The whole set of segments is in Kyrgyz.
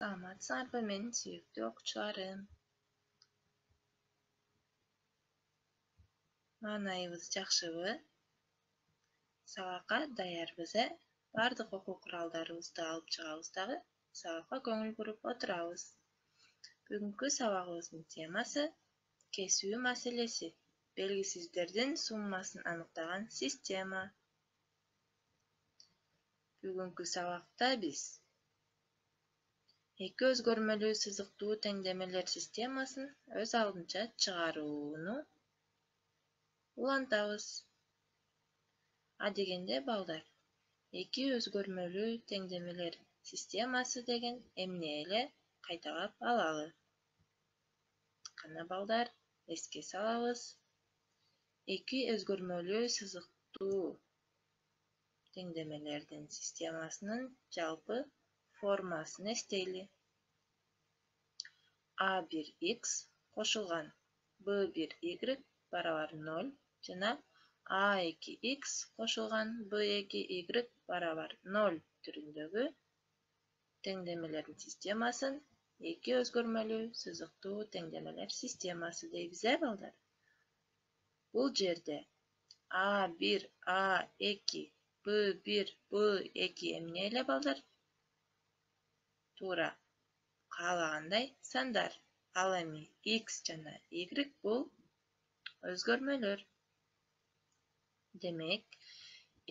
Саламатсыңарбы менин сүйүктүү окуучуларым. Маанайыбыз жакшыбы? Сабакка даярбыз, Бардык окуу куралдарыбызды алып чыгабыз дагы сабакка көңүл буруп отурабыз. Бүгүнкү сабагыбыздын темасы кесүү маселеси. Белгисиздердин суммасын аныктаган система. Бүгүнкү сабакта биз эки өзгөрмөлүү сызыктуу теңдемелер системасын өз алдынча чыгарууну улантабыз. Адегенде балдар, эки өзгөрмөлүү теңдемелер системасы деген эмне эле кайталап алалы. Кана балдар, эске салабыз. Эки өзгөрмөлүү сызыктуу теңдемелердин системасынын жалпы формасын эстейли. A1x кошулган B1y барабар 0 жана A2x кошулган B2y барабар 0 түрүндөгү теңдемелердин системасын эки өзгөрмөлүү сызыктуу теңдемелер системасы дейбиз, балдар. Бул жерде A1, A2, B1, B2 эмне эле, балдар? Туура каалагандай сандар. Ал эми x жана y бул өзгөрмөлөр. Демек,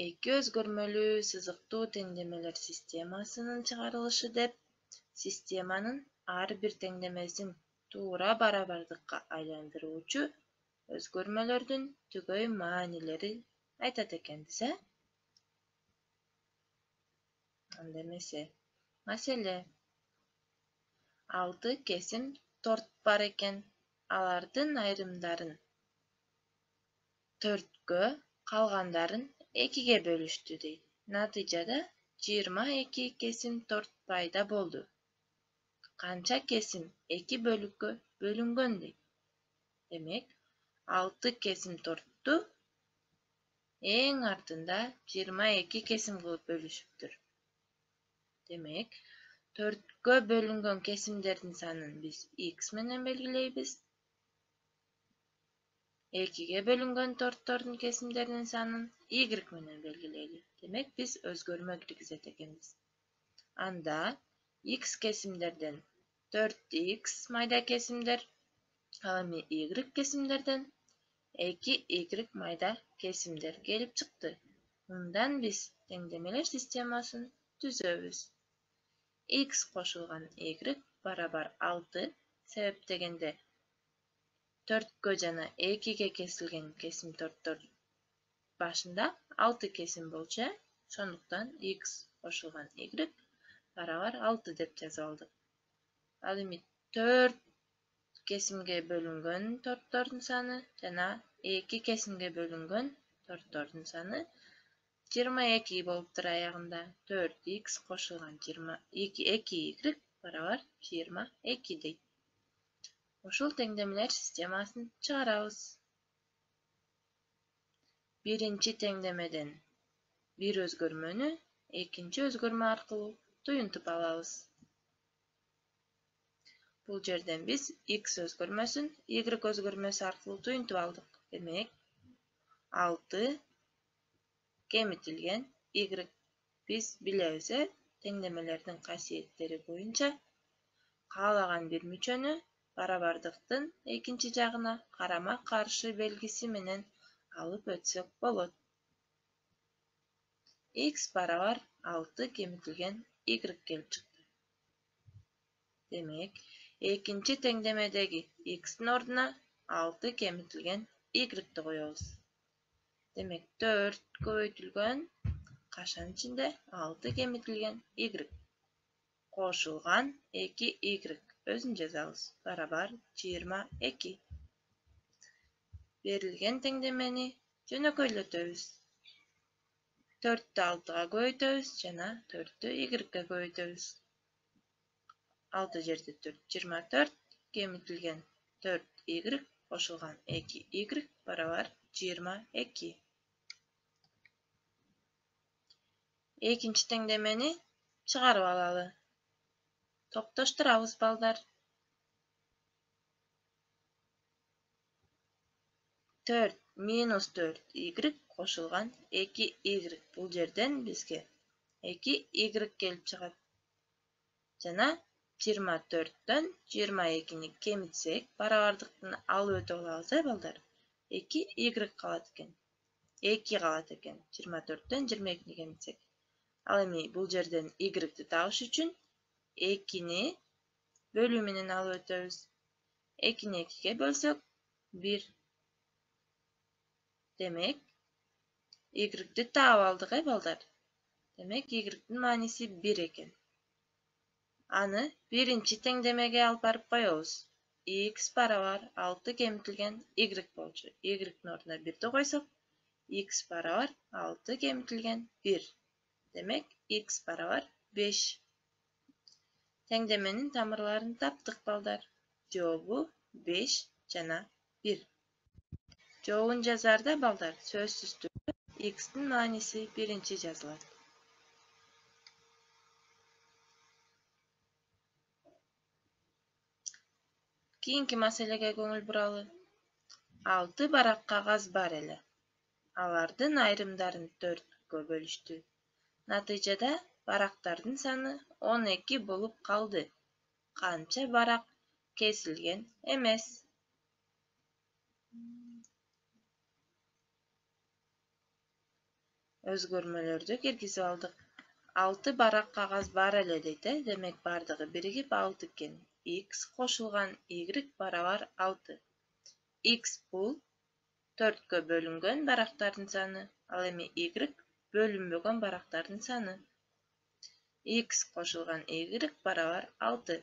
эки өзгөрмөлүү сызыктуу теңдемелер системасынын чыгарылышы деп системанын ар бир теңдемесин туура барабардыкка айландыруучу өзгөрмөлөрдүн түгөй маанилери айтат экенбиз, Анда эмесе. Маселе. 6 кесим торт бар экен. Алардын айрымдарын 4-кө, калгандарын 2-ге бөлүштү дейт. Натыйжада 22 кесим торт пайда болду. Канча кесим 2 бөлүккө бөлүнгөн дейт. Демек, 6 кесим тортту эң артында 22 кесим кылып бөлүшүптүр. Демек, 4-кө бөлүнгөн кесимдердин санын биз x менен белгилейбиз. 2-ге бөлүнгөн торттордун кесимдеринин санын y менен белгилейли. Демек, биз өзгөрмө киргизет экенбиз. Анда x кесимдерден 4x майда кесимдер, ал эми y кесимдерден 2y майда кесимдер келип чыкты. Мындан биз теңдемелер системасын түзөбүз. X кошулган y барабар 6, себеп дегенде 4-кө жана 2-ге кесилген кесим торттор башында 6 кесим болчу, ошондуктан x кошулган y барабар 6 деп жазып алдык. Ал эми 4 кесимге бөлүнгөн торттордун саны жана 2 кесимге бөлүнгөн торттордун саны 22 болуптур аягында. 4x кошулган 2y барабар 22 дейт. Ушул теңдемелер системасын чыгарабыз. Биринчи теңдемеден бир өзгөрмөнү экинчи өзгөрмө аркылуу туюнтуп алабыз. Бул жерден биз x өзгөрмөсүн y өзгөрмөсү аркылуу туюнтуп алдык. Демек, 6 кемитилген y. Биз билебиз, теңдемелердин касиеттери боюнча каалаган бир мүчөнү барабардыктын экинчи жагына карама-каршы белгиси менен алып өтсөк болот. X барабар 6 кемитилген y келип чыкты. Демек, экинчи теңдемедеги x'тин ордуна 6 кемитилген y коебуз. Демек, 4 көбөйтүлгөн кашан ичинде 6 кемитилген y кошулган 2y өзүн жазабыз. Барабар 22. Берилген теңдемени жөнөкөйлөтөбүз. 4-тү 6-га көбөйтөбүз жана 4-тү y-ге көбөйтөбүз. 6 жерде 4 24 кемитилген 4y кошулган 2y барабар 22. Экинчи теңдемени чыгарып алалы. Топтоштурабыз балдар. 4 минус 4 y кошулган 2 y. Бул жерден бизге 2 y келип чыгат. Жана 24төн 22-ни кемитсек, барабардыктын алып өтө алабыз, балдар. 2 y калат экен. 2 калат экен. 24төн 22-ни кемитсек. Ал эми бул жерден y-ди табыш үчүн 2-ни бөлүү менен алып өтөбүз. 2-ни 2-ге бөлсөк 1. Демек, y-ди таап алдык, балдар. Демек, y-дин мааниси 1 экен. Аны биринчи теңдемеге алып барып коебуз. X барабар 6 кемитилген y болчу. Y-дин ордуна 1-ди койсок, x барабар 6 кемитилген 1. Демек, x барабар 5. Теңдеменин тамырларын таптык, балдар. Жообу 5 жана 1. Жообун жазаарда, балдар, сөзсүз түрдө x-дин мааниси биринчи жазылат. Кийинки маселеге көңүл буралы. 6 барак кагаз бар эле. Алардын айрымдарын 4-кө бөлүштү. Натыйжада барактардын саны 12 болуп калды. Канча барак кесилген эмес? Өзгөрмөлөрдү киргизип алдык. 6 барак кагаз бар эле дейт, демек бардыгы биригип 6 экен. X кошулган y барабар 6. X бул 4-кө бөлүнгөн барактардын саны, ал эми y бөлүнбөгөн барактардын саны. X кошулган y барабар 6.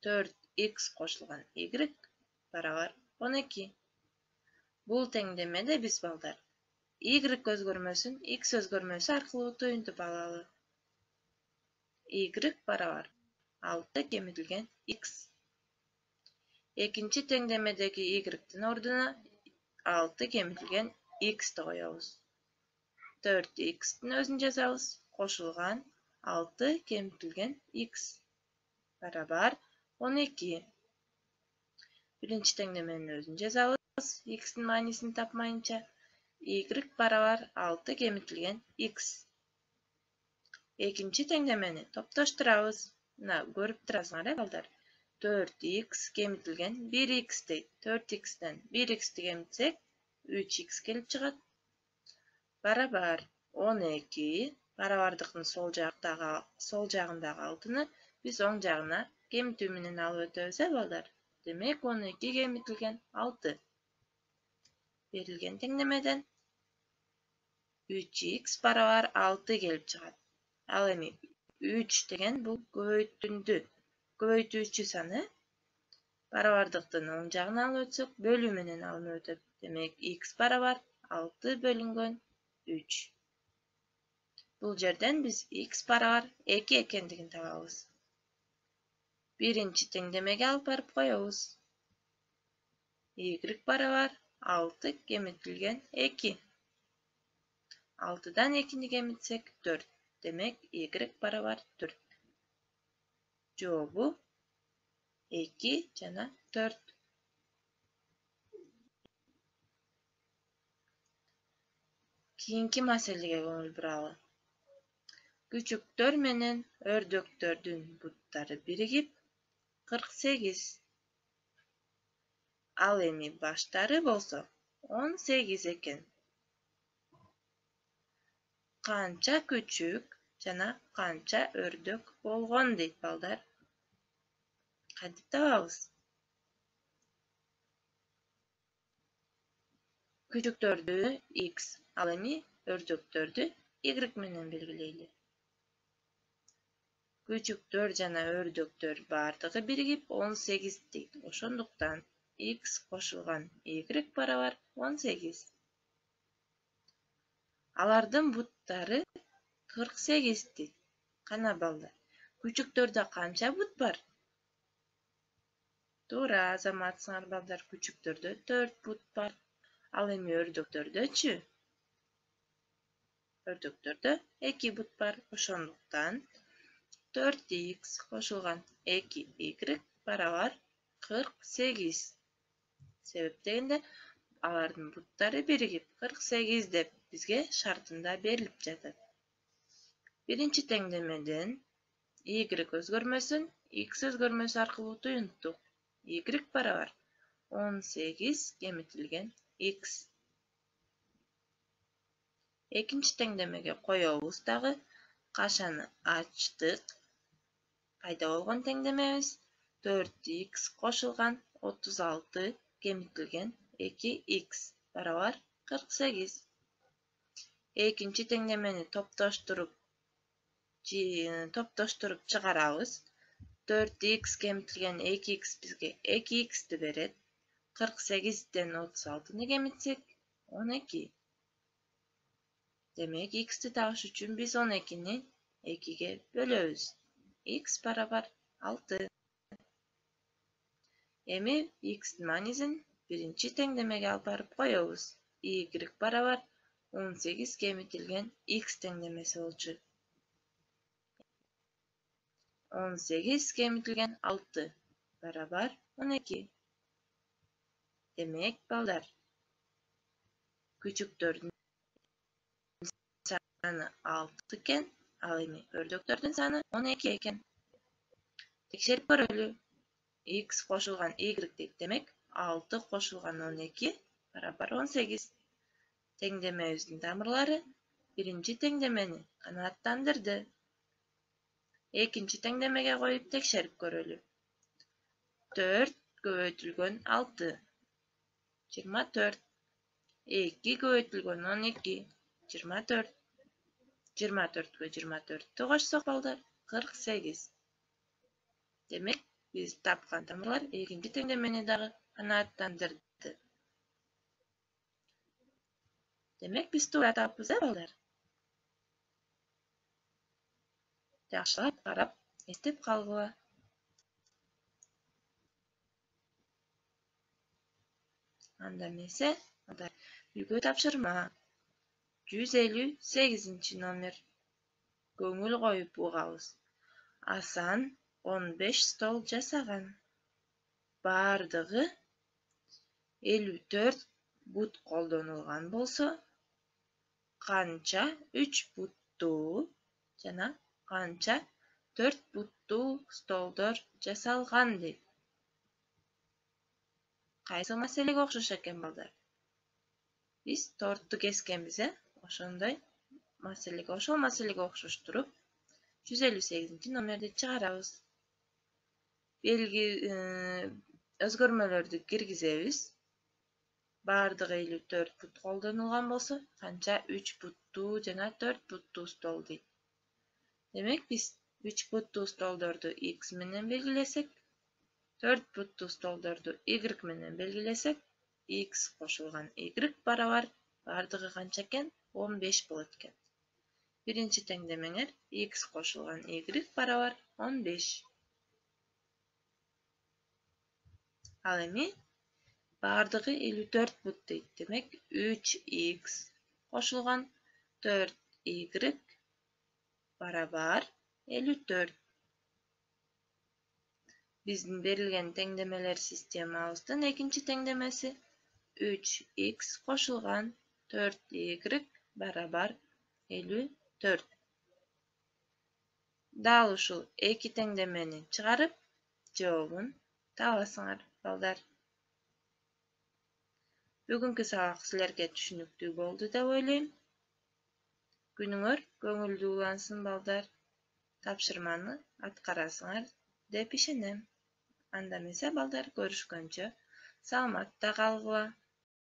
4x кошулган y барабар 12. Бул теңдемеде биз, балдар, y өзгөрмөсүн x өзгөрмөсү аркылуу туюнтуп алалы. Y барабар 6 кемитилген x. Экинчи теңдемедеги y-дин ордуна 6 кемитилген x-ди коебуз. 4x-дин өзүн жазабыз. Кошулган 6 кемитилген x барабар 12. Биринчи теңдеменин өзүн жазабыз. X-дин маанисин тапмайынча. Y барабар 6 кемитилген x. Экинчи теңдемени топтоштурабыз. Мына көрүп турасыңар, балдар. 4x кемитилген 1x дейт. 4x'тен 1x'ти кемитсек, 3x келип чыгат. Барабар 12. Барабардыктын сол жагындагы 6-ны биз оң жагына кемитүү менен алып өтөбүз, балдар. Демек, 12 кемитилген 6. Берилген теңдемеден 3x барабар 6 келип чыгат. Ал эми 3 деген бул көбөйтүүчү саны. Барабардыктын оң жагына алып өтсөк, бөлүү менен алынып өтөт. Демек, x барабар 6 бөлүнгөн 3. Бул жерден биз x барабар 2 экендигин табабыз. Биринчи теңдемеге алып барып коебуз. Y барабар 6 кемитилген 2. 6-дан 2-ни кемитсек 4. Демек, y барабар 4. Жообу 2 жана 4. Кийинки маселеге көңүл буралы. Күчүктөр менен өрдөктөрдүн буттары биригип 48. Ал эми баштары болсо 18 экен. Канча күчүк жана канча өрдөк болгон дейт, балдар. Кантип табабыз? Күчүктөрдү x, ал эми өрдөктөрдү y менен белгилейли. Күчүктөр жана өрдөктөр бардыгы биригип 18 дейт. Ошондуктан x кошулган y барабар 18. Алардын буттары 48 дейт. Кана, балдар, күчүктөрдө канча бут бар? Туура азаматсыңар, балдар, күчүктөрдө 4 бут бар. Ал эми өрдөктөрдөчү? Өрдөктөрдө 2 бут бар. Ошондуктан 4х кошулган 2y барабар 48. Себеп дегенде алардын буттары биригип 48 деп бизге шартында берилип жатат. Биринчи теңдемеден y өзгөрмөсүн x өзгөрмөсү аркылуу туюнттук. Y барабар 18 кемитилген x. Экинчи теңдемеге коебуз дагы. Кашаны ачтык. Пайда болгон теңдемебиз 4х кошулган 36 кемитилген 2x барабар 48. Экинчи теңдемени топтоштуруп чыгарабыз. 4х кемитилген 2x бизге 2x'ти берет. 48ден 36-ны кемитсек 12. Демек x'ти табыш үчүн биз 12-ни 2-ге бөлөбүз. X барабар 6. Эми x'тин маанисин биринчи теңдемеге алып барып коебуз. Y барабар 18 кемитилген x теңдемеси болчу. 18 кемитилген 6 барабар 12. Демек, балдар, күчүктөрдүн саны 6 экен, ал эми өрдөктөрдүн саны 12 экен. Текшерип көрөлү. X кошулган y дейт. Демек, 6 кошулган 12 барабар 18. Теңдемебиздин тамырлары биринчи теңдемени канааттандырды. Экинчи теңдемеге коюп текшерип көрөлү. 4 көбөйтүлгөн 6 24. 2 көбөйтүлгөн 12 24. 24кө 24-тү кошсок, балдар, 48. Демек, биз тапкан тамырлар экинчи теңдемени дагы канааттандырды. Демек, биз туура тааппыз, балдар? Жакшылап карап, эстеп калгыла. Анда эмесе, үйгө тапшырма. 158 номер. Көңүл коюп угабыз. Асан 15 стол жасаган. Бардыгы 54 бут колдонулган болсо, канча 3 буттуу жана канча 4 буттуу столдор жасалган дейт. Кайсы маселеге окшош экен, балдар? Биз торту кескенбиз, ошондой маселеге, ошол маселеге окшоштуруп 158 номерди чыгарабыз. Өзгөрмөлөрдү киргизебиз. Бардыгы 54 бут колдонулган болсо, канча 3 буттуу жана 4 буттуу стол дейт. Демек, биз 3 буттуу столдорду x менен белгилесек, 4 буттуу столдорду y менен белгилесек, x кошулган y барабар бардыгы канча экен? 15 болот экен. Биринчи теңдемеңер x кошулган y барабар 15. Ал эми бардыгы 54 бут дейт. Демек, 3x кошулган 4y барабар 54. Биздин берилген теңдемелер системабыздын экинчи теңдемеси 3x кошулган 4y барабар 54. Дал ушул эки теңдемени чыгарып, жообун табасыңар, балдар. Бүгүнкү сабак силерге түшүнүктүү болду деп ойлойм. Күнүңөр көңүлдүү улансын, балдар. Тапшырманы аткарасыңар деп ишенем. Анда эмесе, балдар, көрүшкөнчө саламатта калгыла.